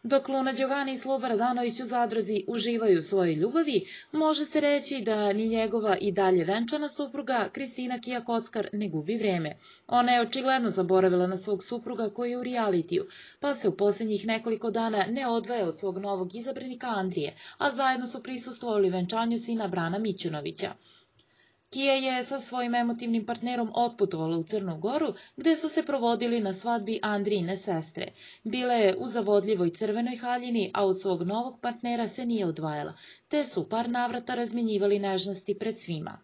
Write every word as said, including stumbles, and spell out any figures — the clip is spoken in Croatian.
Dok Luna Đogani i Sloba Radanović u zadruzi uživaju u svojoj ljubavi, može se reći da ni njegova i dalje venčana supruga Kristina Kija Kockar ne gubi vreme. Ona je očigledno zaboravila na svog supruga koji je u realitiju, pa se u posljednjih nekoliko dana ne odvaja od svog novog izabranika Andrije, a zajedno su prisustvovali venčanju sina Brana Mićunovića. Kija je sa svojim emotivnim partnerom otputovala u Crnu Goru, gde su se provodili na svadbi Andrijine sestre. Bila je u zavodljivoj crvenoj haljini, a od svog novog partnera se nije odvajala, te su par navrata razmjenjivali nežnosti pred svima.